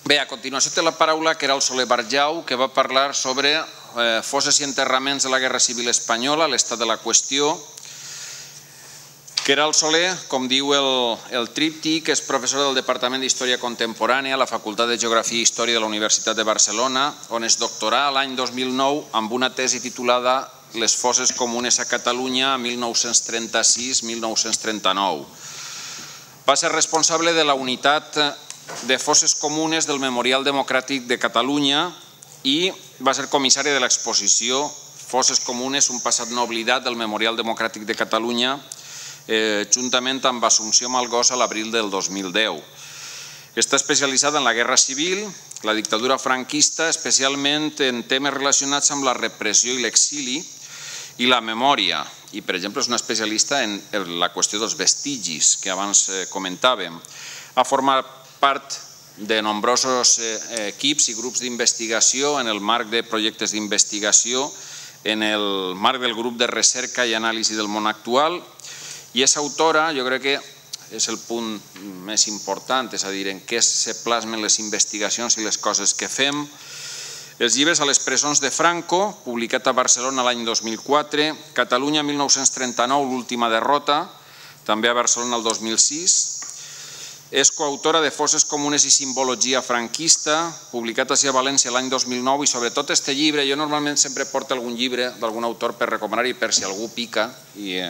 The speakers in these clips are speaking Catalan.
Bé, a continuació té la paraula Queralt Soler Barjau, que va parlar sobre fosses i enterraments de la Guerra Civil Espanyola, l'estat de la qüestió. Queralt Soler, com diu el tríptic, és professor del Departament d'Història Contemporània a la Facultat de Geografia i Història de la Universitat de Barcelona, on es doctorà l'any 2009 amb una tesi titulada Les fosses comunes a Catalunya 1936-1939. Va ser responsable de la unitat de fosses comunes del Memorial Democràtic de Catalunya i va ser comissari de l'exposició Fosses comunes, un passat no oblidat del Memorial Democràtic de Catalunya, juntament amb Assumpció Malgosa a l'abril del 2010. Està especialitzada en la Guerra Civil, la dictadura franquista, especialment en temes relacionats amb la repressió i l'exili i la memòria. I, per exemple, és una especialista en la qüestió dels vestigis, que abans comentàvem. Ha format part de nombrosos equips i grups d'investigació en el marc de projectes d'investigació, en el marc del grup de recerca i anàlisi del món actual, i és autora, jo crec que és el punt més important, és a dir, en què se plasmen les investigacions i les coses que fem. Els llibres A les presons de Franco, publicat a Barcelona l'any 2004, Catalunya 1939, l'última derrota, també a Barcelona el 2006. És coautora de Fosses comunes i simbologia franquista, publicat a València l'any 2009, i sobretot este llibre, jo normalment sempre porto algun llibre d'algun autor per recomanar i per si algú pica i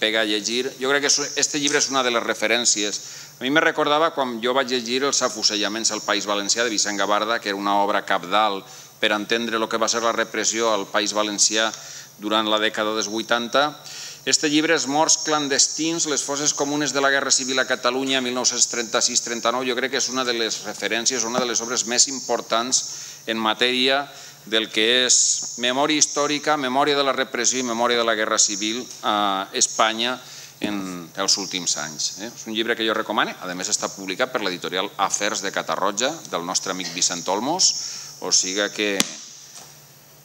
pega a llegir. Jo crec que este llibre és una de les referències. A mi me recordava quan jo vaig llegir Els afusellaments al País Valencià de Vicent Gabarda, que era una obra cabdal per entendre el que va ser la repressió al País Valencià durant la dècada dels 80. Este llibre, Els morts clandestins, les fosses comunes de la Guerra Civil a Catalunya 1936-39, jo crec que és una de les referències, una de les obres més importants en matèria del que és memòria històrica, memòria de la repressió i memòria de la Guerra Civil a Espanya en els últims anys. És un llibre que jo recomano, a més està publicat per l'editorial Afers de Catarroja, del nostre amic Vicent Olmos, o sigui que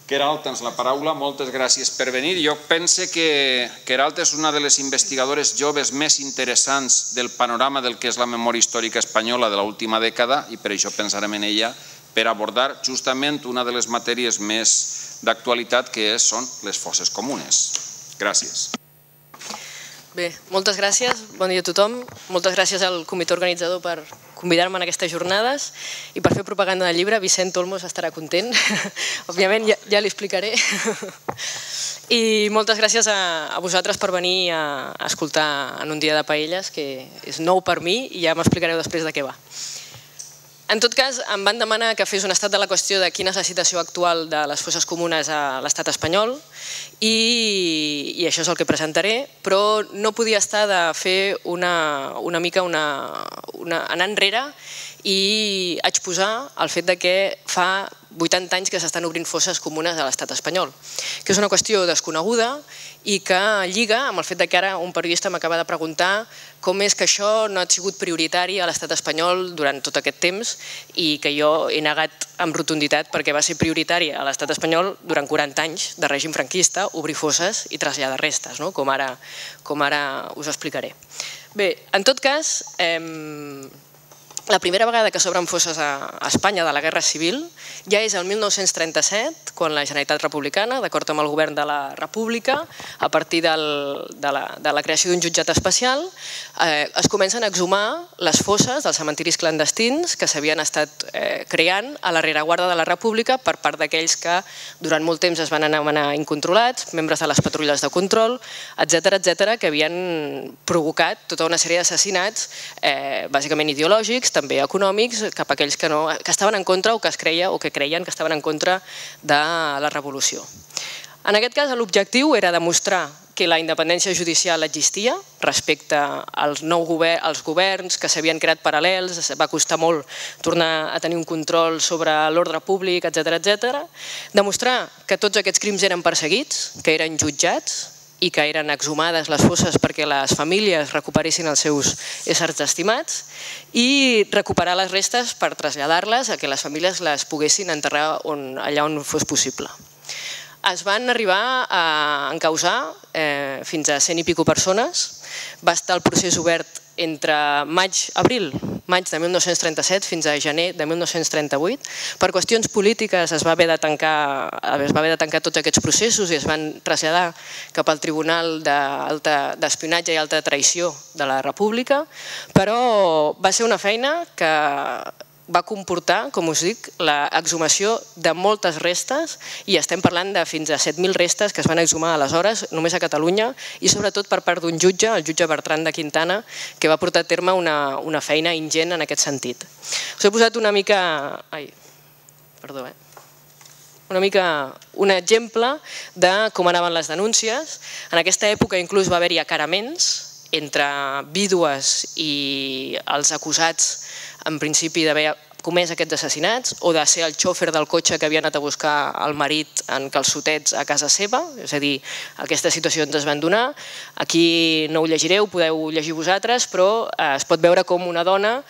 Queralt, tens la paraula, moltes gràcies per venir. Jo penso que Queralt és una de les investigadores joves més interessants del panorama del que és la memòria històrica espanyola de l'última dècada i per això pensarem en ella per abordar justament una de les matèries més d'actualitat que són les fosses comunes. Gràcies. Bé, moltes gràcies, bon dia a tothom. Moltes gràcies al comitè organitzador per convidar-me en aquestes jornades i per fer propaganda del llibre. Vicent Olmos estarà content, òbviament ja li explicaré. I moltes gràcies a vosaltres per venir a escoltar en un dia de paelles, que és nou per mi i ja m'explicareu després de què va. En tot cas, em van demanar que fes un estat de la qüestió de quina és la situació actual de les fosses comunes a l'estat espanyol i això és el que presentaré, però no podia estar de fer una mica anar enrere i exposar el fet que fa 80 anys que s'estan obrint fosses comunes a l'estat espanyol, que és una qüestió desconeguda i que lliga amb el fet que ara un periodista m'acaba de preguntar com és que això no ha sigut prioritari a l'estat espanyol durant tot aquest temps i que jo he negat amb rotunditat perquè va ser prioritari a l'estat espanyol durant 40 anys de règim franquista obrir fosses i traslladar restes, com ara us explicaré. Bé, en tot cas, la primera vegada que s'obren fosses a Espanya de la Guerra Civil ja és el 1937, quan la Generalitat Republicana, d'acord amb el govern de la República, a partir de la creació d'un jutjat especial, es comencen a exhumar les fosses dels cementiris clandestins que s'havien estat creant a la rereguarda de la República per part d'aquells que durant molt temps es van anomenar incontrolats, membres de les patrulles de control, etcètera, que havien provocat tota una sèrie d'assassinats, bàsicament ideològics, també econòmics, cap a aquells que estaven en contra o que es creia o que creien que estaven en contra de la revolució. En aquest cas, l'objectiu era demostrar que la independència judicial existia respecte als governs que s'havien creat paral·lels, va costar molt tornar a tenir un control sobre l'ordre públic, etcètera, demostrar que tots aquests crims eren perseguits, que eren jutjats, i que eren exhumades les fosses perquè les famílies recuperessin els seus éssers estimats i recuperar les restes per traslladar-les a que les famílies les poguessin enterrar allà on fos possible. Es van arribar a encausar fins a 100 i escaig persones. Va estar el procés obert entre maig-abril maig de 1937 fins a gener de 1938. Per qüestions polítiques es va haver de tancar tots aquests processos i es van traslladar cap al Tribunal d'Espionatge i Alta Traïció de la República, però va ser una feina que va comportar, com us dic, l'exhumació de moltes restes i estem parlant de fins a 7.000 restes que es van exhumar aleshores només a Catalunya i sobretot per part d'un jutge, el jutge Bertran de Quintana, que va portar a terme una feina ingent en aquest sentit. Us he posat una mica un exemple de com anaven les denúncies. En aquesta època inclús va haver-hi acaraments entre vídues i els acusats en principi d'haver comès aquests assassinats o de ser el xòfer del cotxe que havia anat a buscar el marit en calçotets a casa seva, és a dir, aquestes situacions es van donar. Aquí no ho llegireu, podeu llegir vosaltres, però es pot veure com una dona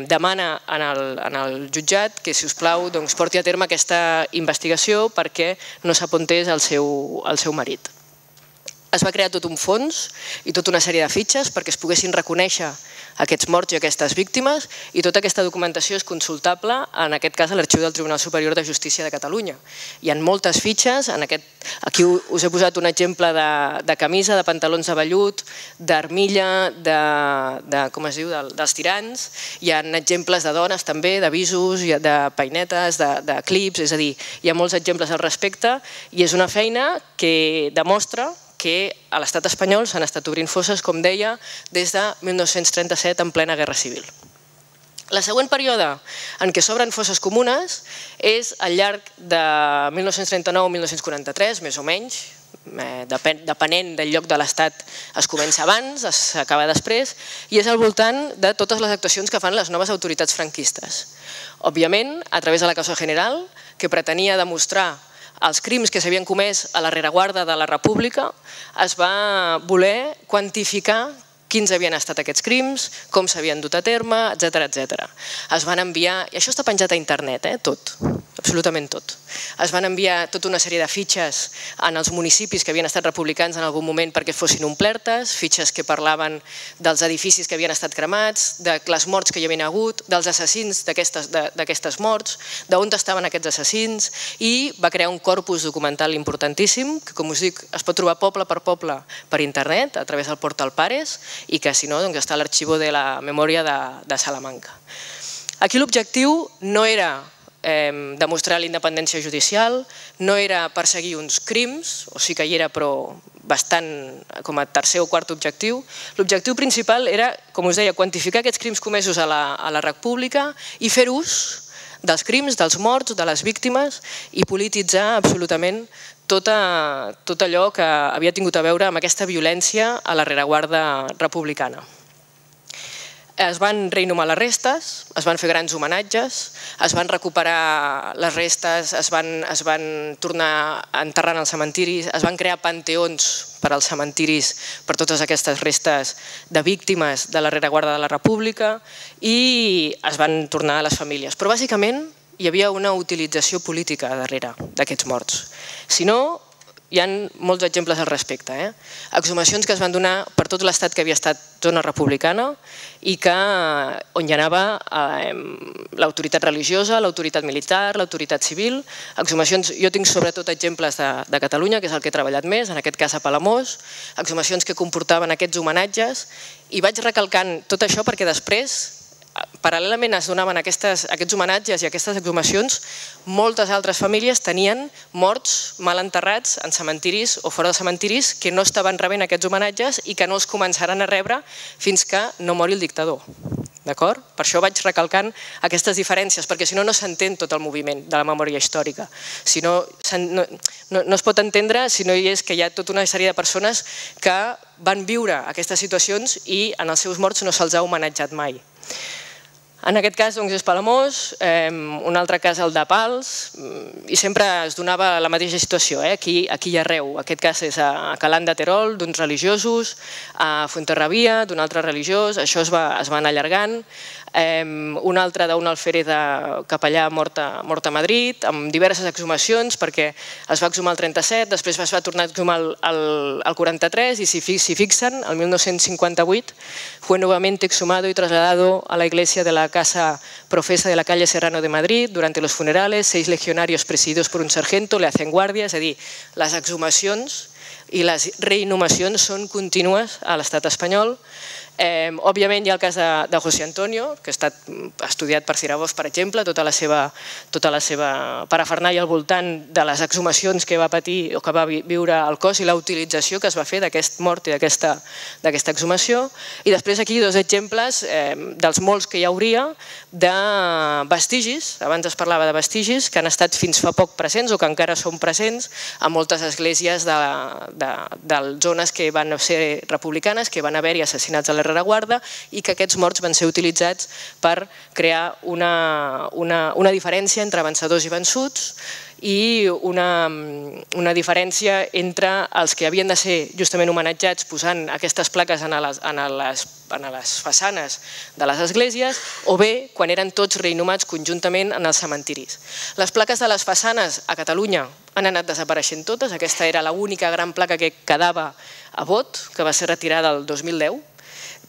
demana en el jutjat que, si us plau, porti a terme aquesta investigació perquè no s'apuntés el seu marit. Es va crear tot un fons i tota una sèrie de fitxes perquè es poguessin reconèixer aquests morts i aquestes víctimes i tota aquesta documentació és consultable, en aquest cas, a l'Arxiu del Tribunal Superior de Justícia de Catalunya. Hi ha moltes fitxes, aquí us he posat un exemple de camisa, de pantalons de vellut, d'armilla, dels tirants, hi ha exemples de dones també, d'avisos, de peinetes, de clips, és a dir, hi ha molts exemples al respecte i és una feina que demostra que a l'estat espanyol s'han estat obrint fosses, com deia, des de 1937 en plena Guerra Civil. El següent període en què s'obren fosses comunes és al llarg de 1939-1943, més o menys, depenent del lloc de l'estat es comença abans, s'acaba després, i és al voltant de totes les actuacions que fan les noves autoritats franquistes. Òbviament, a través de la causa general, que pretenia demostrar els crims que s'havien comès a la rereguarda de la República, es va voler quantificar quins havien estat aquests crims, com s'havien dut a terme, etc. Es van enviar, i això està penjat a internet, tot, absolutament tot. Es van enviar tota una sèrie de fitxes en els municipis que havien estat republicans en algun moment perquè fossin omplertes, fitxes que parlaven dels edificis que havien estat cremats, de les morts que hi havien hagut, dels assassins d'aquestes morts, d'on estaven aquests assassins, i va crear un corpus documental importantíssim, que, com us dic, es pot trobar poble per internet, a través del portal Pares, i que, si no, està a l'Arxivo de la Memòria de Salamanca. Aquí l'objectiu no era demostrar la independència judicial, no era perseguir uns crims, o sí que hi era, però bastant com a tercer o quart objectiu. L'objectiu principal era, com us deia, quantificar aquests crims comesos a la República i fer ús dels crims, dels morts, de les víctimes i polititzar absolutament tot allò que havia tingut a veure amb aquesta violència a la rereguarda republicana. Es van reinhumar les restes, es van fer grans homenatges, es van recuperar les restes, es van tornar a enterrar en els cementiris, es van crear panteons per als cementiris per totes aquestes restes de víctimes de la rereguarda de la República i es van tornar a les famílies. Però bàsicament hi havia una utilització política darrere d'aquests morts. Si no, hi ha molts exemples al respecte. Exhumacions que es van donar per tot l'estat que havia estat zona republicana i on hi anava l'autoritat religiosa, l'autoritat militar, l'autoritat civil. Exhumacions, jo tinc sobretot exemples de Catalunya, que és el que he treballat més, en aquest cas a Palamós, exhumacions que comportaven aquests homenatges, i vaig recalcant tot això perquè després, paral·lelament es donaven aquests homenatges i aquestes exhumacions, moltes altres famílies tenien morts mal enterrats en cementiris o fora de cementiris que no estaven rebent aquests homenatges i que no els començaran a rebre fins que no mori el dictador. D'acord? Per això vaig recalcant aquestes diferències, perquè si no, no s'entén tot el moviment de la memòria històrica. Si no es pot entendre si no hi és que hi ha tota una sèrie de persones que van viure aquestes situacions i en els seus morts no se'ls ha homenatjat mai. En aquest cas és Palamós, un altre cas el de Pals, i sempre es donava la mateixa situació, aquí i arreu. Aquest cas és a Calant de Terol, d'uns religiosos, a Fuenterrabía, d'un altre religiós, això es va anar allargant. Un altre d'un alferer capellà mort a Madrid, amb diverses exhumacions, perquè es va exhumar el 37, després es va tornar a exhumar el 43, y si fixen, el 1958 fue nuevamente exhumado y trasladado a la iglesia de la Casa Profesa de la calle Serrano de Madrid. Durante los funerales, 6 legionarios presididos por un sargento le hacen guàrdia, és a dir, les exhumacions i les reinhumacions són contínues a l'estat espanyol. Òbviament hi ha el cas de José Antonio, que ha estat estudiat per Cirabós, per exemple, tota la seva parafernàlia al voltant de les exhumacions que va patir o que va viure el cos i la utilització que es va fer d'aquest mort i d'aquesta exhumació. I després aquí 2 exemples dels molts que hi hauria de vestigis, abans es parlava de vestigis, que han estat fins fa poc presents o que encara són presents a moltes esglésies de zones que van ser republicanes, que van haver-hi assassinats a la rereguarda i que aquests morts van ser utilitzats per crear una diferència entre vencedors i vençuts i una diferència entre els que havien de ser justament homenatjats posant aquestes plaques en les façanes de les esglésies o bé quan eren tots reinhumats conjuntament en els cementiris. Les plaques de les façanes a Catalunya han anat desapareixent totes, aquesta era l'única gran placa que quedava a Bot, que va ser retirada el 2010,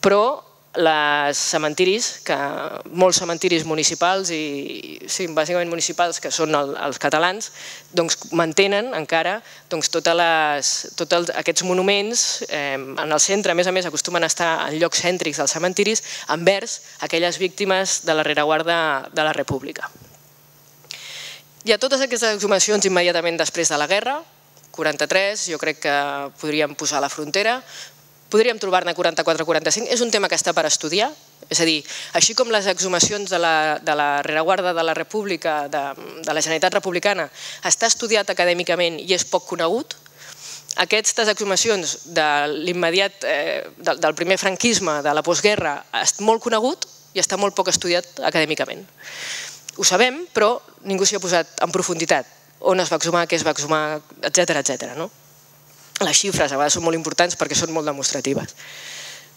però els cementiris, molts cementiris municipals i bàsicament municipals que són els catalans, mantenen encara tots aquests monuments en el centre. A més, acostumen a estar en llocs cèntrics dels cementiris envers aquelles víctimes de la rereguarda de la República. Hi ha totes aquestes exhumacions immediatament després de la guerra, 43, jo crec que podríem posar a la frontera, podríem trobar-ne 44-45, és un tema que està per estudiar, és a dir, així com les exhumacions de la rereguarda de la República, de la Generalitat Republicana, està estudiat acadèmicament i és poc conegut, aquestes exhumacions de l'immediat, del primer franquisme, de la postguerra, és molt conegut i està molt poc estudiat acadèmicament. Ho sabem, però ningú s'hi ha posat en profunditat, on es va exhumar, què es va exhumar, etcètera. Les xifres a vegades són molt importants perquè són molt demostratives.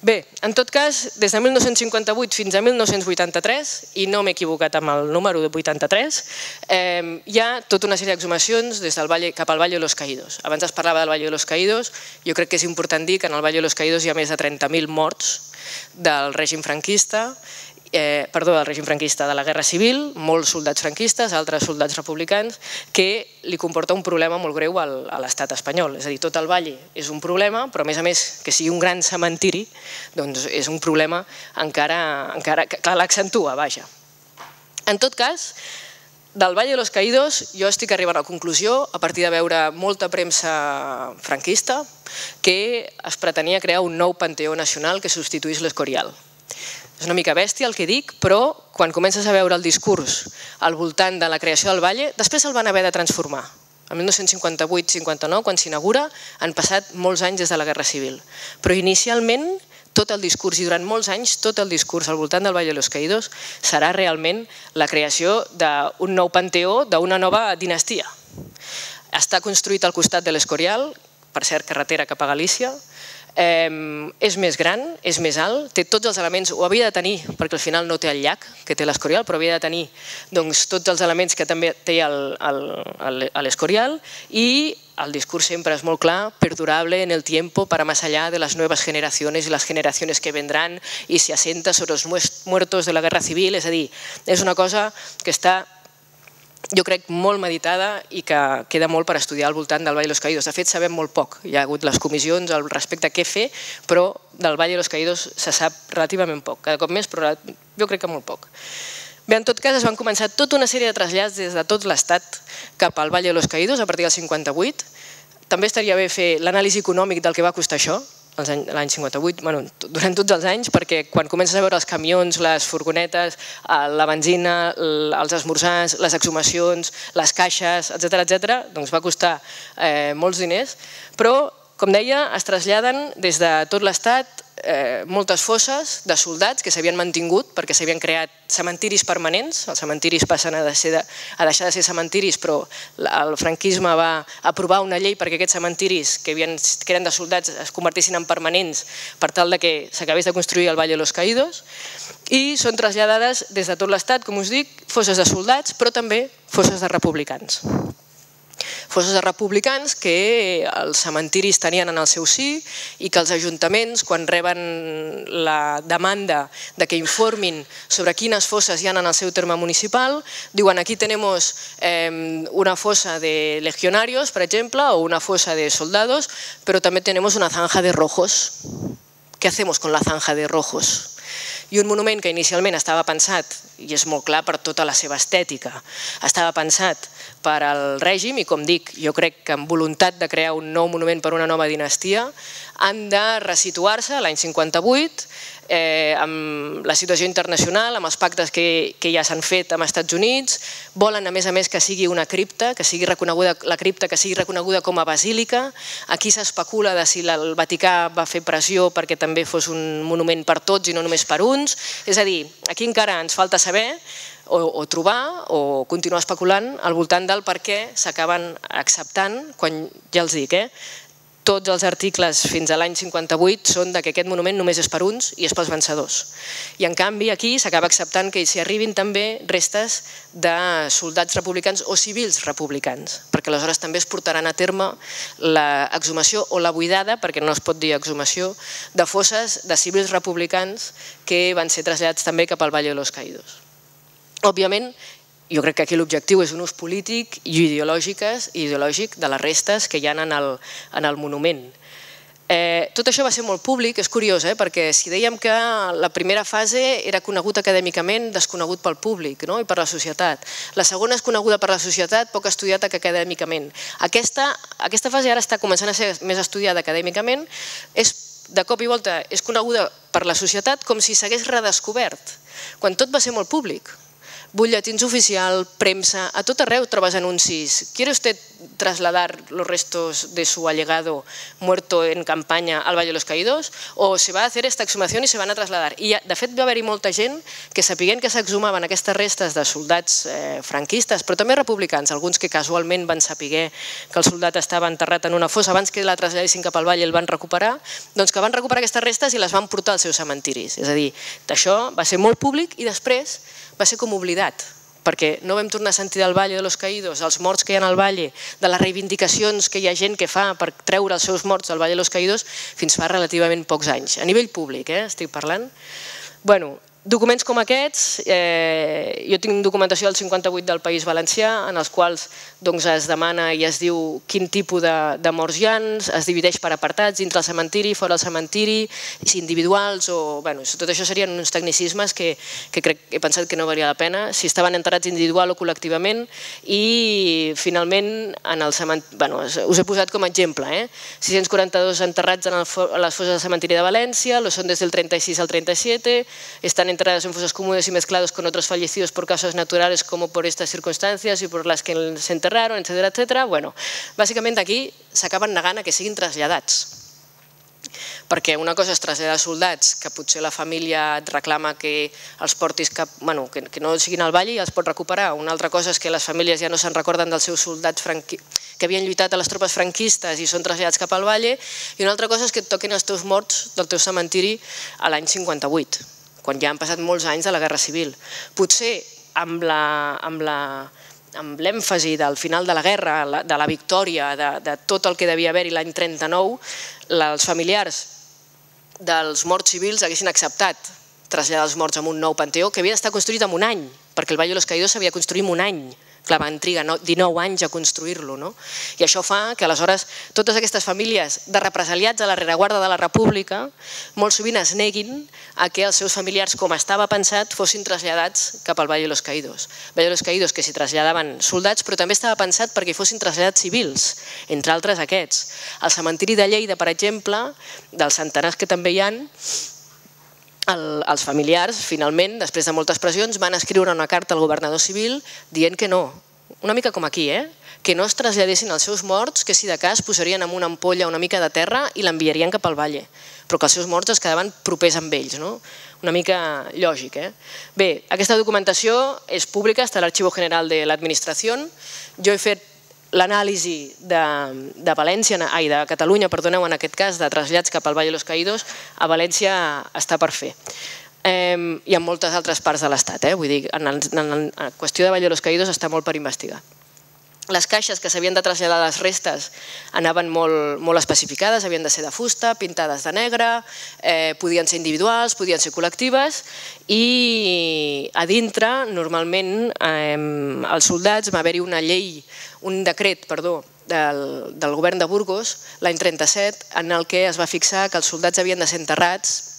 Bé, en tot cas, des de 1958 fins a 1983, i no m'he equivocat amb el número de 83, hi ha tota una sèrie d'exhumacions cap al Valle de los Caídos. Abans es parlava del Valle de los Caídos, jo crec que és important dir que en el Valle de los Caídos hi ha més de 30.000 morts del règim franquista, de la Guerra Civil, molts soldats franquistes, altres soldats republicans, que li comporta un problema molt greu a l'estat espanyol. És a dir, tot el Valle és un problema, però a més que sigui un gran cementiri, doncs és un problema encara que l'accentua, vaja. En tot cas, del Valle de los Caídos jo estic arribant a la conclusió, a partir de veure molta premsa franquista, que es pretenia crear un nou panteó nacional que substituís l'Escorial. És una mica bèstia el que dic, però quan comences a veure el discurs al voltant de la creació del Valle, després el van haver de transformar. El 1958-59, quan s'inaugura, han passat molts anys des de la Guerra Civil. Però inicialment, tot el discurs, i durant molts anys, tot el discurs al voltant del Valle de los Caídos serà realment la creació d'un nou panteó, d'una nova dinastia. Està construït al costat de l'Escorial, per cert, carretera cap a Galícia, és més gran, és més alt, té tots els elements, ho havia de tenir, perquè al final no té el llac que té l'Escorial, però havia de tenir tots els elements que també té l'Escorial, i el discurs sempre és molt clar, perdurable en el tiempo para más allá de las nuevas generaciones y las generaciones que vendrán, y se asienta sobre los muertos de la Guerra Civil, és a dir, és una cosa que està, jo crec, molt meditada i que queda molt per estudiar al voltant del Valle de los Caídos. De fet, sabem molt poc. Hi ha hagut les comissions al respecte a què fer, però del Valle de los Caídos se sap relativament poc. Cada cop més, però jo crec que molt poc. Bé, en tot cas, es van començar tota una sèrie de trasllats des de tot l'Estat cap al Valle de los Caídos a partir del 58. També estaria bé fer l'anàlisi econòmic del que va costar això, l'any 58, durant tots els anys, perquè quan comences a veure els camions, les furgonetes, la benzina, els esmorzars, les exhumacions, les caixes, etcètera, doncs va costar molts diners, però, com deia, es traslladen des de tot l'Estat moltes fosses de soldats que s'havien mantingut perquè s'havien creat cementiris permanents. Els cementiris passen a deixar de ser cementiris, però el franquisme va aprovar una llei perquè aquests cementiris que eren de soldats es convertissin en permanents per tal que s'acabés de construir el Valle de los Caídos, i són traslladades des de tot l'Estat, com us dic, fosses de soldats, però també fosses de republicans. Fosses de republicans que els cementiris tenien en el seu si i que els ajuntaments, quan reben la demanda de que informin sobre quines fosses hi ha en el seu terme municipal, diuen aquí tenemos una fosa de legionarios, per exemple, o una fosa de soldados, però també tenemos una zanja de rojos. ¿Qué hacemos con la zanja de rojos? I un monument que inicialment estava pensat, i és molt clar per tota la seva estètica, estava pensat per al règim i, com dic, jo crec que amb voluntat de crear un nou monument per una nova dinastia, han de resituar-se a l'any 58 amb la situació internacional, amb els pactes que ja s'han fet amb els Estats Units. Volen, a més, que sigui una cripta, que sigui reconeguda la cripta, que sigui reconeguda com a basílica. Aquí s'especula de si el Vaticà va fer pressió perquè també fos un monument per tots i no només per uns. És a dir, aquí encara ens falta saber o trobar o continuar especulant al voltant del per què s'acaben acceptant, quan ja els dic, tots els articles fins a l'any 58 són que aquest monument només és per uns i és pels vencedors. I en canvi aquí s'acaba acceptant que s'hi arribin també restes de soldats republicans o civils republicans, perquè aleshores també es portaran a terme l'exhumació o la buidada, perquè no es pot dir exhumació, de fosses de civils republicans que van ser traslladats també cap al Valle de los Caídos. Òbviament, jo crec que aquí l'objectiu és un ús polític i ideològic de les restes que hi ha en el monument. Tot això va ser molt públic, és curiós, perquè si dèiem que la primera fase era conegut acadèmicament, desconegut pel públic i per la societat. La segona és coneguda per la societat, poc estudiada acadèmicament. Aquesta fase ara està començant a ser més estudiada acadèmicament, de cop i volta és coneguda per la societat com si s'hagués redescobert, quan tot va ser molt públic. Butlletins oficial, premsa, a tot arreu trobes anuncis. ¿Quiere usted trasladar los restos de su allegado muerto en campaña al Valle de los Caídos? O se va a hacer esta exhumación y se van a trasladar. I de fet va haver-hi molta gent que sapiguent que s'exhumaven aquestes restes de soldats franquistes, però també republicans, alguns que casualment van saber que el soldat estava enterrat en una fossa abans que la traslladessin cap al Valle i el van recuperar, doncs que van recuperar aquestes restes i les van portar als seus cementiris. És a dir, això va ser molt públic i després va ser com oblidat, perquè no vam tornar a sentir del Valle de los Caídos, els morts que hi ha al Valle, de les reivindicacions que hi ha gent que fa per treure els seus morts del Valle de los Caídos fins fa relativament pocs anys. A nivell públic, estic parlant. Bueno, documents com aquests, jo tinc documentació del 58 del País Valencià, en els quals es demana i es diu quin tipus de morts hi ha, es divideix per apartats, dintre el cementiri, fora el cementiri, si individuals o... Tot això serien uns tecnicismes que he pensat que no valia la pena, si estaven enterrats individual o col·lectivament, i finalment, us he posat com a exemple, 642 enterrats a les fosses del cementiri de València, lo son des del 36 al 37, estan enterrados en fosas comunes y mezclados con otros fallecidos por causas naturales como por estas circunstancias y por las que se enterraron, etcétera, etcétera. Bueno, bàsicament aquí s'acaben negant a que siguin traslladats. Perquè una cosa és traslladar soldats que potser la família et reclama que els portis que no siguin al Valle i els pot recuperar. Una altra cosa és que les famílies ja no se'n recorden dels seus soldats que havien lluitat a les tropes franquistes i són traslladats cap al Valle, i una altra cosa és que et toquin els teus morts del teu cementiri a l'any 58, quan ja han passat molts anys de la Guerra Civil. Potser amb l'èmfasi del final de la guerra, de la victòria, de tot el que devia haver-hi l'any 39, els familiars dels morts civils haguessin acceptat traslladar els morts a un nou panteó que havia d'estar construït en un any, perquè el Valle de los Caídos s'havia construït en un any. Clar, van trigar 19 anys a construir-lo, no? I això fa que aleshores totes aquestes famílies de represaliats a la rereguarda de la República molt sovint es neguin a que els seus familiars, com estava pensat, fossin traslladats cap al Valle de los Caídos. Valle de los Caídos que s'hi traslladaven soldats, però també estava pensat perquè fossin traslladats civils, entre altres aquests. Al cementiri de Lleida, per exemple, dels centenars que també hi ha, els familiars, finalment, després de moltes pressions, van escriure una carta al governador civil dient que no, una mica com aquí, que no es traslladessin els seus morts, que si de cas posarien en una ampolla una mica de terra i l'enviarien cap al valle, però que els seus morts es quedaven propers amb ells, no? Una mica lògic. Bé, aquesta documentació és pública, està a l'Archivo General de l'Administració. Jo he fet l'anàlisi de València, ai, de Catalunya, perdoneu, en aquest cas, de trasllats cap al Valle de los Caídos, a València està per fer. I en moltes altres parts de l'Estat, vull dir, en la qüestió de Valle de los Caídos està molt per investigar. Les caixes que s'havien de traslladar les restes anaven molt especificades, havien de ser de fusta, pintades de negre, podien ser individuals, podien ser col·lectives i a dintre, normalment, els soldats, va haver-hi una llei, un decret, perdó, del govern de Burgos, l'any 37, en el que es va fixar que els soldats havien de ser enterrats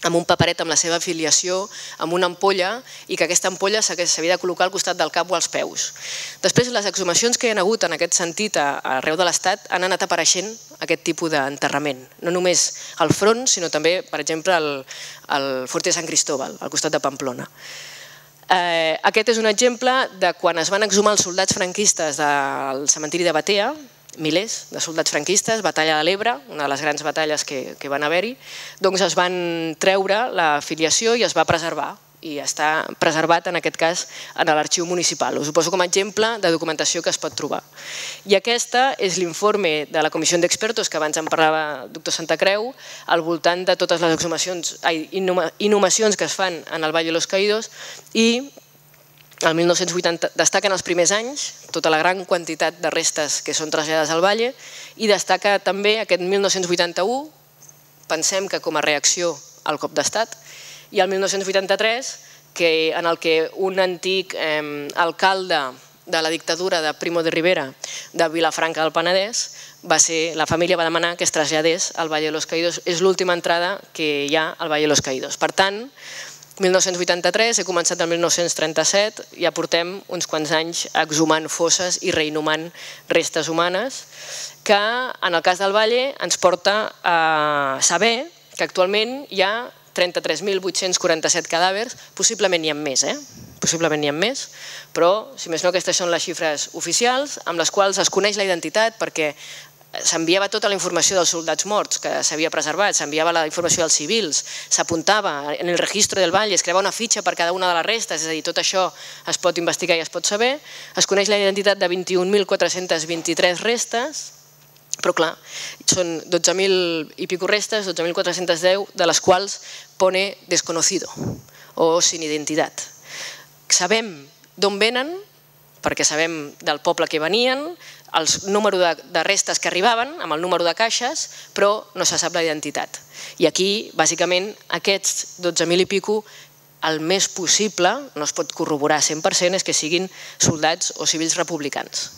amb un paperet amb la seva afiliació, amb una ampolla, i que aquesta ampolla s'havia de col·locar al costat del cap o als peus. Després, les exhumacions que hi ha hagut en aquest sentit arreu de l'Estat han anat apareixent aquest tipus d'enterrament. No només al front, sinó també, per exemple, al Fort de Sant Cristóbal, al costat de Pamplona. Aquest és un exemple de quan es van exhumar els soldats franquistes del cementiri de Batea, milers de soldats franquistes, batalla de l'Ebre, una de les grans batalles que van haver-hi, doncs es van treure l'afiliació i es va preservar, i està preservat en aquest cas en l'arxiu municipal. Us ho poso com a exemple de documentació que es pot trobar. I aquesta és l'informe de la comissió d'expertos que abans en parlava el doctor Santacreu al voltant de totes les inhumacions que es fan en el Valle de los Caídos, i el 1980 destaquen els primers anys, tota la gran quantitat de restes que són traslladades al Valle, i destaca també aquest 1981, pensem que com a reacció al cop d'estat, i el 1983, en el que un antic alcalde de la dictadura de Primo de Rivera de Vilafranca del Penedès, la família va demanar que es traslladés al Valle de los Caídos. És l'última entrada que hi ha al Valle de los Caídos. Per tant, 1983, he començat el 1937, ja portem uns quants anys exhumant fosses i reinhumant restes humanes, que en el cas del Valle ens porta a saber que actualment hi ha 33.847 cadàvers, possiblement n'hi ha més, possiblement n'hi ha més, però, si més no, aquestes són les xifres oficials, amb les quals es coneix la identitat, perquè s'enviava tota la informació dels soldats morts que s'havia preservat, s'enviava la informació dels civils, s'apuntava en el registre del Valle, es creava una fitxa per cada una de les restes, és a dir, tot això es pot investigar i es pot saber, es coneix la identitat de 21.423 restes, però clar, són 12.000 i pico restes, 12.410, de les quals pone desconocido o sin identitat. Sabem d'on venen, perquè sabem del poble que venien, el número de restes que arribaven, amb el número de caixes, però no se sap la identitat. I aquí, bàsicament, aquests 12.000 i pico, el més possible, no es pot corroborar 100%, és que siguin soldats o civils republicans.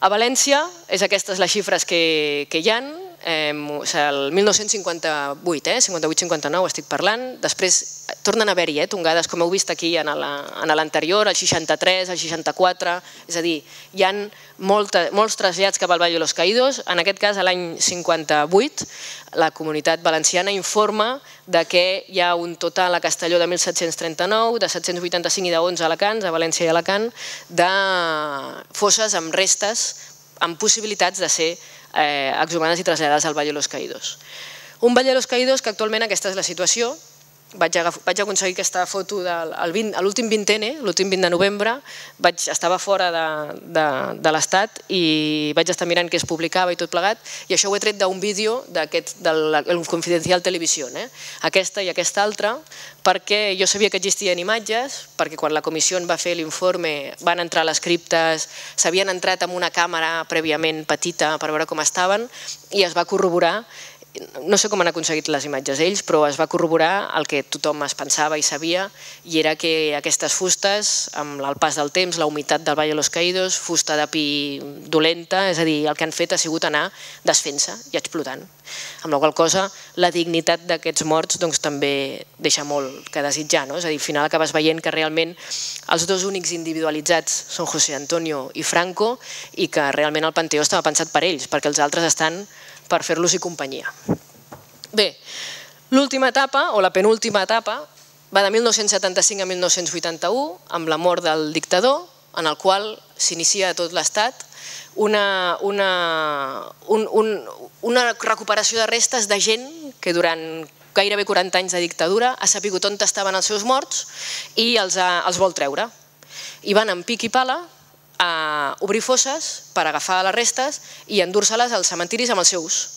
A València, aquestes les xifres que hi ha, el 1958, 58-59 estic parlant, després tornen a haver-hi tongades, com heu vist aquí en l'anterior, el 63, el 64, és a dir, hi ha molts trasllats cap al Valle de los Caídos. En aquest cas, l'any 58, la Comunitat Valenciana informa que hi ha un total a Castelló de 1.739, de 785 i de 11 a Alacant, a València i Alacant, de fosses amb restes, amb possibilitats de ser exhumades i traslladades al Valle de los Caídos. Un Valle de los Caídos que actualment aquesta és la situació. Vaig aconseguir aquesta foto a l'últim 20N, l'últim 20 de novembre, estava fora de l'Estat i vaig estar mirant què es publicava i tot plegat, i això ho he tret d'un vídeo del Confidencial Televisió, aquesta i aquesta altra, perquè jo sabia que existien imatges, perquè quan la comissió va fer l'informe van entrar a les criptes, s'havien entrat amb una càmera prèviament petita per veure com estaven, i es va corroborar. No sé com han aconseguit les imatges ells, però es va corroborar el que tothom es pensava i sabia, i era que aquestes fustes, amb el pas del temps, la humitat del Valle de los Caídos, fusta de pi dolenta, és a dir, el que han fet ha sigut anar desfent-se i explotant. Amb la qual cosa, la dignitat d'aquests morts també deixa molt que desitjar. És a dir, al final acabes veient que realment els dos únics individualitzats són José Antonio i Franco, i que realment el Panteó estava pensat per ells, perquè els altres estan per fer-los-hi companyia. Bé, l'última etapa, o la penúltima etapa, va de 1975 a 1981, amb la mort del dictador, en el qual s'inicia a tot l'Estat una recuperació de restes de gent que durant gairebé 40 anys de dictadura ha sabut on estaven els seus morts i els vol treure. I van amb pic i pala a obrir fosses per agafar les restes i endur-se-les als cementiris amb els seus.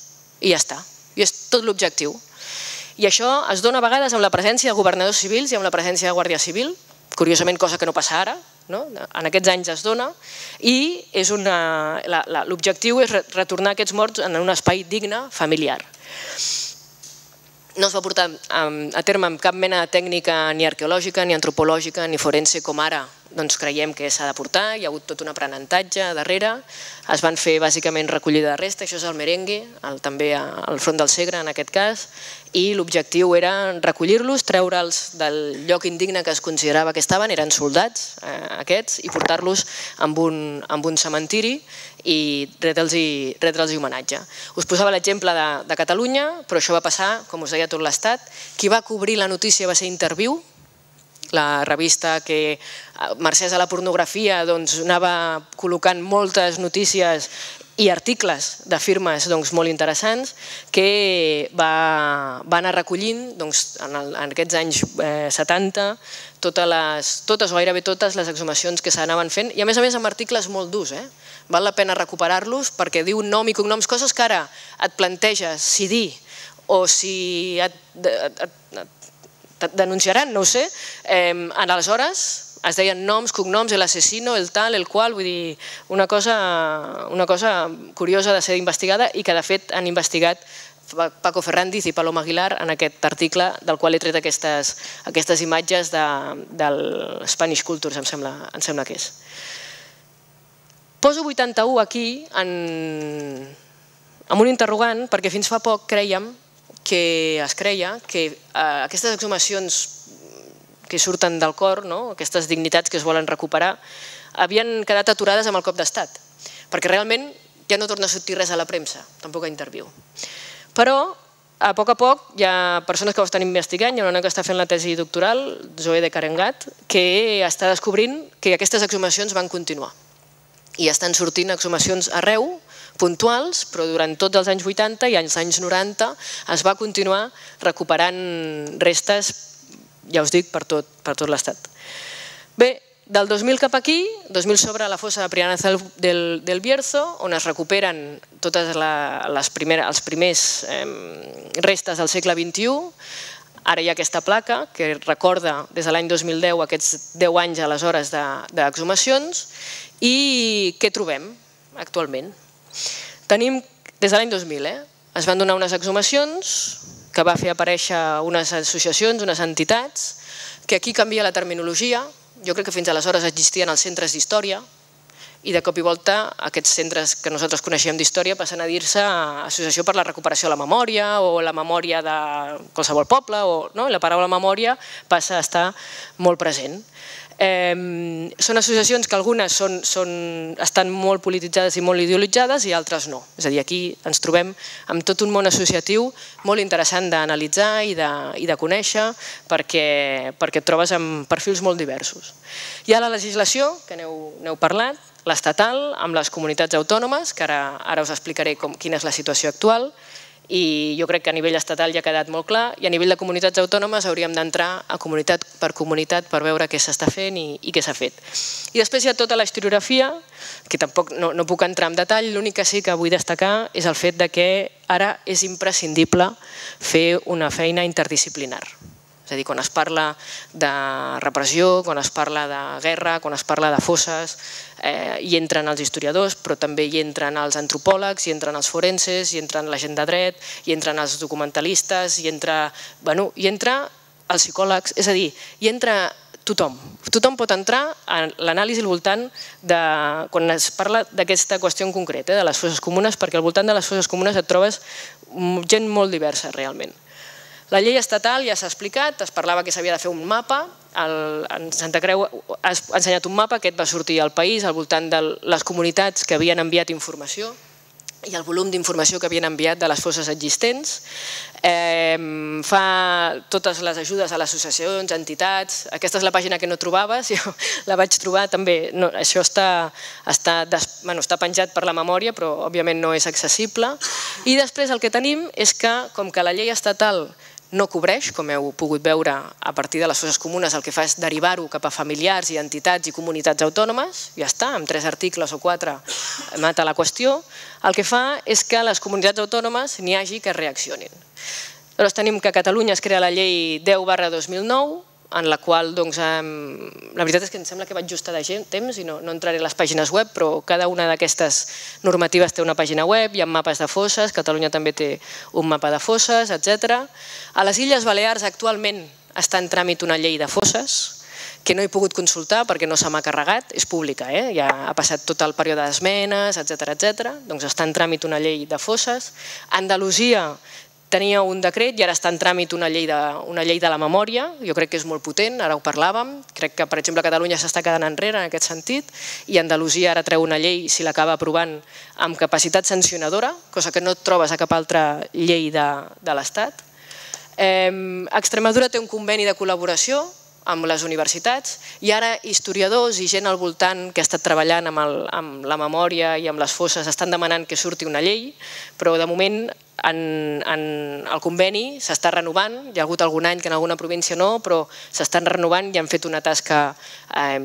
I ja està. I és tot l'objectiu. I això es dona a vegades amb la presència de governadors civils i amb la presència de Guàrdia Civil, curiosament cosa que no passa ara, en aquests anys es dona, i l'objectiu és retornar aquests morts en un espai digne, familiar. No es va portar a terme amb cap mena de tècnica ni arqueològica, ni antropològica, ni forense com ara creiem que s'ha de portar, hi ha hagut tot un aprenentatge darrere, es van fer bàsicament recollida de restes, això és el merengue, també al front del Segre en aquest cas, i l'objectiu era recollir-los, treure'ls del lloc indigne que es considerava que estaven, eren soldats aquests, i portar-los amb un cementiri i retre'ls-hi homenatge. Us posava l'exemple de Catalunya, però això va passar, com us deia, a tot l'Estat. Qui va cobrir la notícia va ser Interviu, la revista que, mercès a la pornografia, anava col·locant moltes notícies i articles de firmes molt interessants que va anar recollint en aquests anys 70 totes o gairebé totes les exhumacions que s'anaven fent i a més amb articles molt durs. Val la pena recuperar-los perquè diu nom i cognoms, coses que ara et planteges si dir o si et denunciaran, no ho sé. Aleshores es deien noms, cognoms, l'assassino, el tal, el qual, vull dir, una cosa curiosa de ser investigada i que de fet han investigat Paco Ferrandiz i Paloma Aguilar en aquest article del qual he tret aquestes imatges del Spanish Cultures, em sembla que és. Poso 81 aquí amb un interrogant perquè fins fa poc es creia que aquestes exhumacions que surten del cor, aquestes dignitats que es volen recuperar, havien quedat aturades amb el cop d'estat, perquè realment ja no torna a sortir res a la premsa, tampoc a Interviu. Però a poc hi ha persones que ho estan investigant, hi ha una que està fent la tesi doctoral, Zoe de Carengat, que està descobrint que aquestes exhumacions van continuar. I estan sortint exhumacions arreu, puntuals, però durant tots els anys 80 i els anys 90 es va continuar recuperant restes, ja us dic, per tot l'Estat. Bé, del 2000 cap aquí, 2000 sobre la fossa de Priana del Bierzo, on es recuperen totes els primers restes del segle XXI. Ara hi ha aquesta placa que recorda des de l'any 2010 aquests 10 anys aleshores d'exhumacions. I què trobem actualment? Tenim, des de l'any 2000, es van donar unes exhumacions que va fer aparèixer unes associacions, unes entitats, que aquí canvia la terminologia. Jo crec que fins aleshores existien els centres d'història i de cop i volta aquests centres que nosaltres coneixíem d'història passen a dir-se Associació per la Recuperació de la Memòria o la memòria de qualsevol poble, i la paraula memòria passa a estar molt present. Són associacions que algunes estan molt polititzades i molt ideologitzades i altres no. És a dir, aquí ens trobem amb tot un món associatiu molt interessant d'analitzar i de conèixer perquè et trobes amb perfils molt diversos. Hi ha la legislació, que n'heu parlat, l'estatal, amb les comunitats autònomes, que ara us explicaré quina és la situació actual, i jo crec que a nivell estatal ja ha quedat molt clar i a nivell de comunitats autònomes hauríem d'entrar a comunitat per veure què s'està fent i què s'ha fet. I després hi ha tota la historiografia, que tampoc no puc entrar en detall, l'únic que sí que vull destacar és el fet que ara és imprescindible fer una feina interdisciplinar. És a dir, quan es parla de repressió, quan es parla de guerra, quan es parla de fosses, hi entren els historiadors, però també hi entren els antropòlegs, hi entren els forenses, hi entren la gent de dret, hi entren els documentalistes, hi entra els psicòlegs, és a dir, hi entra tothom. Tothom pot entrar a l'anàlisi al voltant de quan es parla d'aquesta qüestió en concret, de les fosses comunes, perquè al voltant de les fosses comunes et trobes gent molt diversa realment. La llei estatal ja s'ha explicat, es parlava que s'havia de fer un mapa, en Santa Creu ha ensenyat un mapa, aquest va sortir al país al voltant de les comunitats que havien enviat informació i el volum d'informació que havien enviat de les fosses existents. Fa totes les ajudes a les associacions, entitats. Aquesta és la pàgina que no trobaves, jo la vaig trobar també. Això està penjat per la memòria, però òbviament no és accessible. I després el que tenim és que, com que la llei estatal no cobreix, com heu pogut veure a partir de les fosses comunes, el que fa és derivar-ho cap a familiars i entitats i comunitats autònomes, ja està, amb 3 articles o 4 mata la qüestió, el que fa és que les comunitats autònomes n'hi hagi que reaccionin. Llavors tenim que a Catalunya es crea la llei 10/2009, en la qual, la veritat és que em sembla que vaig justa de temps i no entraré a les pàgines web, però cada una d'aquestes normatives té una pàgina web, hi ha mapes de fosses, Catalunya també té un mapa de fosses, etc. A les Illes Balears actualment està en tràmit una llei de fosses, que no he pogut consultar perquè no se m'ha carregat, és pública, ja ha passat tot el període d'esmenes, etc. Doncs està en tràmit una llei de fosses. Andalusia tenia un decret i ara està en tràmit una llei de la memòria, jo crec que és molt potent, ara ho parlàvem, crec que per exemple Catalunya s'està quedant enrere en aquest sentit i Andalusia ara treu una llei, si l'acaba aprovant, amb capacitat sancionadora, cosa que no et trobes a cap altra llei de l'Estat. Extremadura té un conveni de col·laboració amb les universitats i ara historiadors i gent al voltant que ha estat treballant amb la memòria i amb les fosses estan demanant que surti una llei, però de moment el conveni s'està renovant, hi ha hagut algun any que en alguna província no, però s'estan renovant i han fet una tasca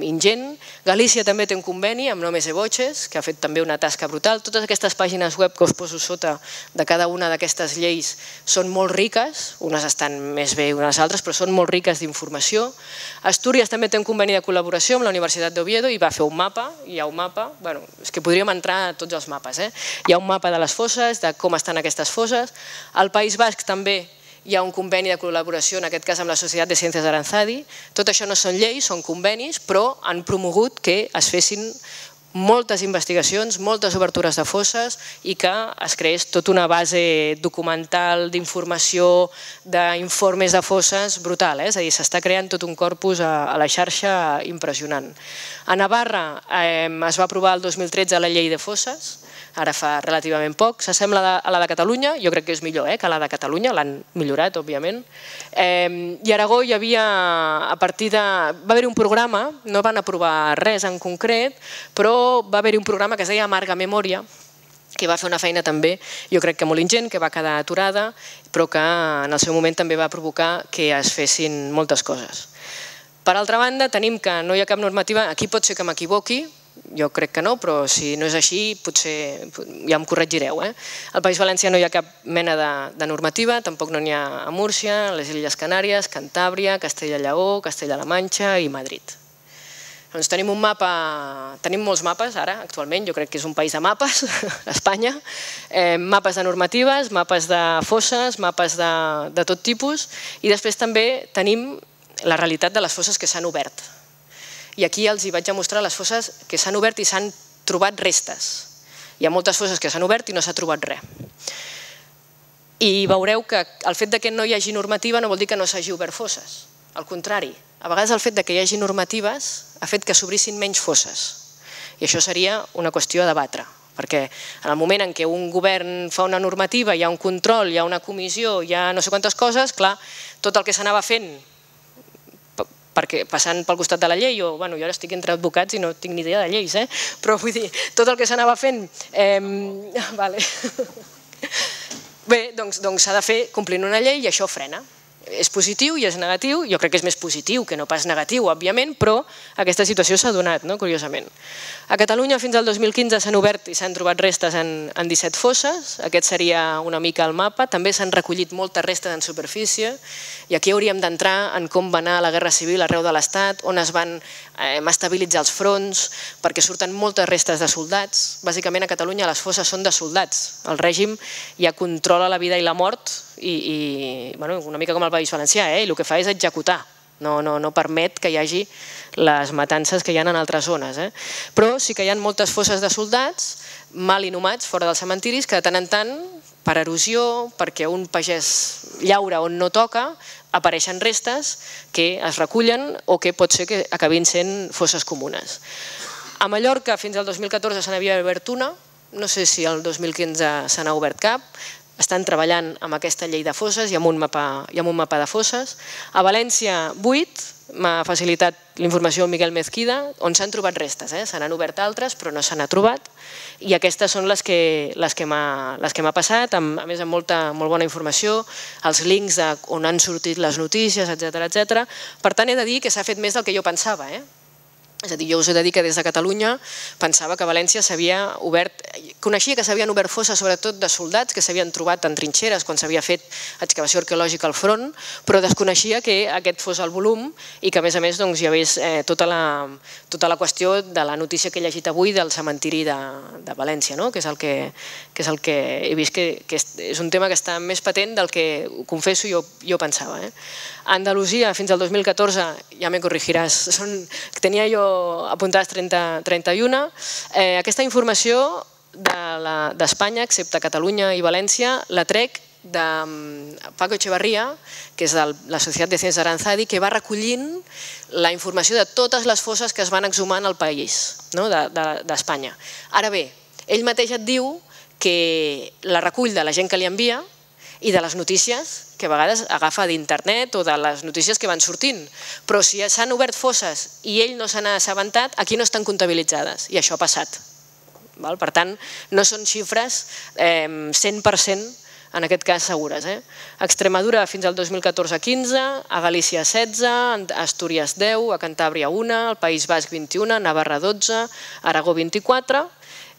ingent. Galícia també té un conveni amb Nomes e Voces, que ha fet també una tasca brutal. Totes aquestes pàgines web que us poso sota de cada una d'aquestes lleis són molt riques, unes estan més bé que unes altres, però són molt riques d'informació. Astúries també té un conveni de col·laboració amb la Universitat d'Oviedo i va fer un mapa, hi ha un mapa, bueno, és que podríem entrar a tots els mapes, hi ha un mapa de les fosses, de com estan aquestes fosses. Al País Basc també hi ha un conveni de col·laboració, en aquest cas amb la Societat de Ciències d'Aranzadi. Tot això no són lleis, són convenis, però han promogut que es fessin moltes investigacions, moltes obertures de fosses i que es creés tota una base documental d'informació, d'informes de fosses brutal. És a dir, s'està creant tot un corpus a la xarxa impressionant. A Navarra es va aprovar el 2013 la llei de fosses, ara fa relativament poc, s'assembla a la de Catalunya, jo crec que és millor que la de Catalunya, l'han millorat, òbviament. I a Aragó hi havia, a partir de... va haver-hi un programa, no van aprovar res en concret, però va haver-hi un programa que es deia Amarga Memòria, que va fer una feina també, jo crec que molt ingent, que va quedar aturada, però que en el seu moment també va provocar que es fessin moltes coses. Per altra banda, tenim que no hi ha cap normativa, aquí pot ser que m'equivoqui, jo crec que no, però si no és així potser ja em corregireu. Al País Valencià no hi ha cap mena de normativa, tampoc no n'hi ha a Múrcia, a les Illes Canàries, Cantàbria, Castella-Lleó, Castella-La Manxa i Madrid. Doncs tenim un mapa, tenim molts mapes ara, actualment, jo crec que és un país de mapes, Espanya, mapes de normatives, mapes de fosses, mapes de tot tipus, i després també tenim la realitat de les fosses que s'han obert. I aquí els hi vaig a mostrar les fosses que s'han obert i s'han trobat restes. Hi ha moltes fosses que s'han obert i no s'ha trobat res. I veureu que el fet que no hi hagi normativa no vol dir que no s'hagi obert fosses. Al contrari, a vegades el fet que hi hagi normatives ha fet que s'obrissin menys fosses. I això seria una qüestió a debatre, perquè en el moment en què un govern fa una normativa, hi ha un control, hi ha una comissió, hi ha no sé quantes coses, clar, tot el que s'anava fent perquè passant pel costat de la llei, jo ara estic entre advocats i no tinc ni idea de lleis, però vull dir, tot el que s'anava fent... Bé, doncs s'ha de fer complint una llei i això frena. És positiu i és negatiu, jo crec que és més positiu que no pas negatiu, òbviament, però aquesta situació s'ha donat, curiosament. A Catalunya fins al 2015 s'han obert i s'han trobat restes en 17 fosses, aquest seria una mica el mapa, també s'han recollit moltes restes en superfície i aquí hauríem d'entrar en com va anar la Guerra Civil arreu de l'Estat, on es van estabilitzar els fronts, perquè surten moltes restes de soldats. Bàsicament a Catalunya les fosses són de soldats, el règim ja controla la vida i la mort i una mica com el País Valencià, i el que fa és executar, no permet que hi hagi les matances que hi ha en altres zones. Però sí que hi ha moltes fosses de soldats mal inhumats fora dels cementiris que de tant en tant, per erosió, perquè un pagès llaura on no toca, apareixen restes que es recullen o que pot ser que acabin sent fosses comunes. A Mallorca fins al 2014 se n'havia obert una, no sé si el 2015 se n'ha obert cap, estan treballant amb aquesta llei de fosses i amb un mapa de fosses. A València, 8, m'ha facilitat l'informació Miguel Mezquida, on s'han trobat restes. Se n'han obert altres, però no se n'ha trobat. I aquestes són les que m'ha passat, a més amb molt bona informació, els links on han sortit les notícies, etc. Per tant, he de dir que s'ha fet més del que jo pensava. És a dir, jo us he de dir que des de Catalunya pensava que a València s'havia obert, coneixia que s'havien obert fosses sobretot de soldats que s'havien trobat en trinxeres quan s'havia fet excavació arqueològica al front, però desconeixia que aquest fos el volum i que a més hi hagués tota la qüestió de la notícia que he llegit avui del cementiri de València, que és el que he vist que és un tema que està més patent del que, ho confesso, jo pensava. A Andalusia, fins al 2014, ja me corregiràs, tenia jo apuntades 31. Aquesta informació d'Espanya, excepte Catalunya i València, la trec de Paco Echevarría, que és de la Societat de Ciencias Aranzadi, que va recollint la informació de totes les fosses que es van exhumar al país d'Espanya. Ara bé, ell mateix et diu que la recull de la gent que li envia i de les notícies que a vegades agafa d'internet o de les notícies que van sortint. Però si s'han obert fosses i ell no se n'ha assabentat, aquí no estan comptabilitzades i això ha passat. Per tant, no són xifres 100% en aquest cas segures. A Extremadura fins al 2014-15, a Galícia 16, a Astúries 10, a Cantàbria 1, al País Basc 21, a Navarra 12, a Aragó 24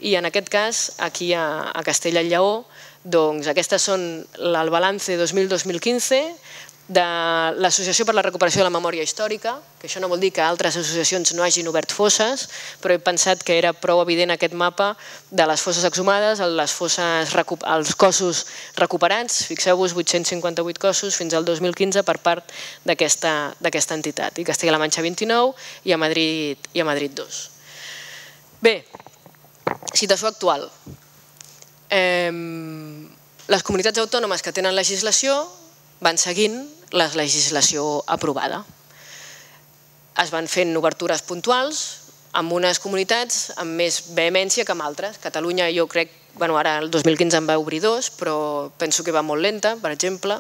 i en aquest cas aquí a Castella i Lleó doncs aquestes són el balance 2000-2015 de l'Associació per la Recuperació de la Memòria Històrica, que això no vol dir que altres associacions no hagin obert fosses, però he pensat que era prou evident aquest mapa de les fosses exhumades, els cossos recuperats, fixeu-vos, 858 cossos fins al 2015 per part d'aquesta entitat, i Castella-La Manxa 29 i a Madrid 2. Bé, situació actual. Les comunitats autònomes que tenen legislació van seguint la legislació aprovada. Es van fent obertures puntuals amb unes comunitats amb més vehemència que amb altres. Catalunya jo crec, ara el 2015 en va obrir 2, però penso que va molt lenta, per exemple.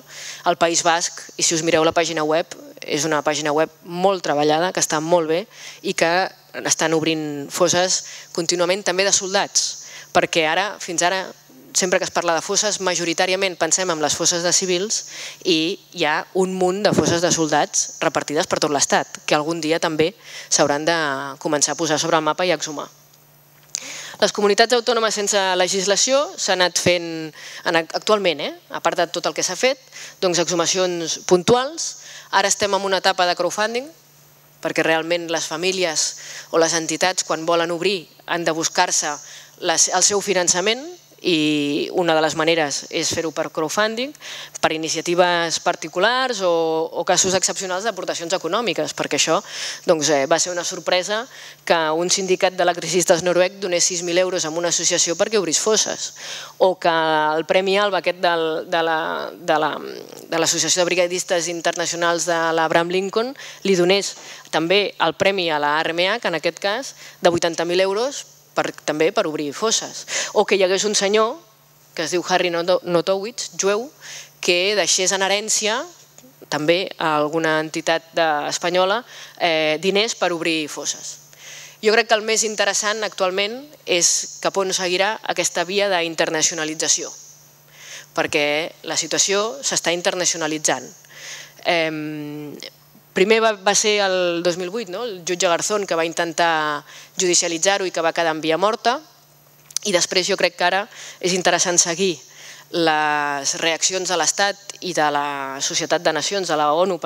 El País Basc, i si us mireu la pàgina web, és una pàgina web molt treballada, que està molt bé i que estan obrint fosses contínuament també de soldats, perquè fins ara sempre que es parla de fosses, majoritàriament pensem en les fosses de civils i hi ha un munt de fosses de soldats repartides per tot l'Estat, que algun dia també s'hauran de començar a posar sobre el mapa i a exhumar. Les comunitats autònomes sense legislació s'han anat fent actualment, a part de tot el que s'ha fet, doncs exhumacions puntuals. Ara estem en una etapa de crowdfunding, perquè realment les famílies o les entitats quan volen obrir han de buscar-se el seu finançament, i una de les maneres és fer-ho per crowdfunding, per iniciatives particulars o casos excepcionals d'aportacions econòmiques, perquè això va ser una sorpresa que un sindicat d'electricistes noruec donés 6.000 euros a una associació perquè obrís fosses, o que el Premi Alba aquest de l'Associació de Brigadistes Internacionals de l'Abraham Lincoln li donés també el premi a la RMH, en aquest cas, de 80.000 euros també per obrir fosses. O que hi hagués un senyor, que es diu Harry Notowitz, jueu, que deixés en herència, també a alguna entitat espanyola, diners per obrir fosses. Jo crec que el més interessant actualment és cap on seguirà aquesta via d'internacionalització, perquè la situació s'està internacionalitzant. Primer va ser el 2008, el jutge Garzón, que va intentar judicialitzar-ho i que va quedar en via morta, i després jo crec que ara és interessant seguir les reaccions de l'Estat i de la Societat de Nacions, de la ONU,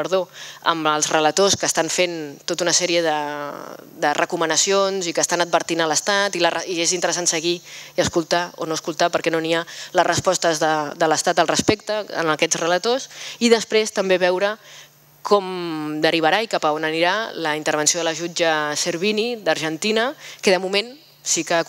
amb els relators que estan fent tota una sèrie de recomanacions i que estan advertint a l'Estat, i és interessant seguir i escoltar o no escoltar, perquè no n'hi ha les respostes de l'Estat al respecte en aquests relators, i després també veure com derivarà i cap a on anirà la intervenció de la jutge Servini d'Argentina, que de moment sí que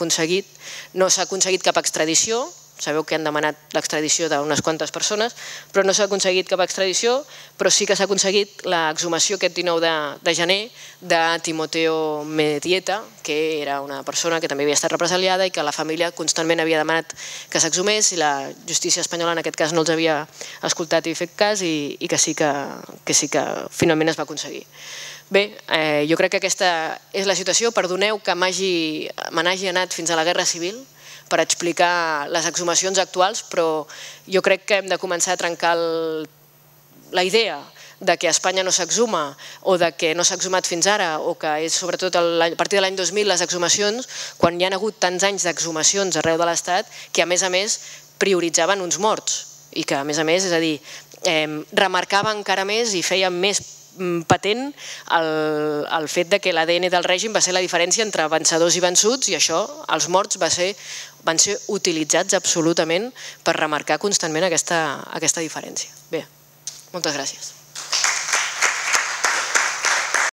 no s'ha aconseguit cap extradició, Sabeu que han demanat l'extradició d'unes quantes persones, però no s'ha aconseguit cap extradició, però sí que s'ha aconseguit l'exhumació aquest 19 de gener de Timoteo Medieta, que era una persona que també havia estat represaliada i que la família constantment havia demanat que s'exhumés i la justícia espanyola en aquest cas no els havia escoltat i fet cas i que sí que finalment es va aconseguir. Bé, jo crec que aquesta és la situació. Perdoneu que me n'hagi anat fins a la Guerra Civil per explicar les exhumacions actuals, però jo crec que hem de començar a trencar la idea de que a Espanya no s'exhuma o de que no s'ha exhumat fins ara o que és sobretot a partir de l'any 2000 les exhumacions, quan hi ha hagut tants anys d'exhumacions arreu de l'Estat que a més prioritzaven uns morts i que a més, és a dir, remarcava encara més i feia més patent el fet que l'ADN del règim va ser la diferència entre vencedors i vençuts i això, els morts van ser utilitzats absolutament per remarcar constantment aquesta diferència. Bé, moltes gràcies.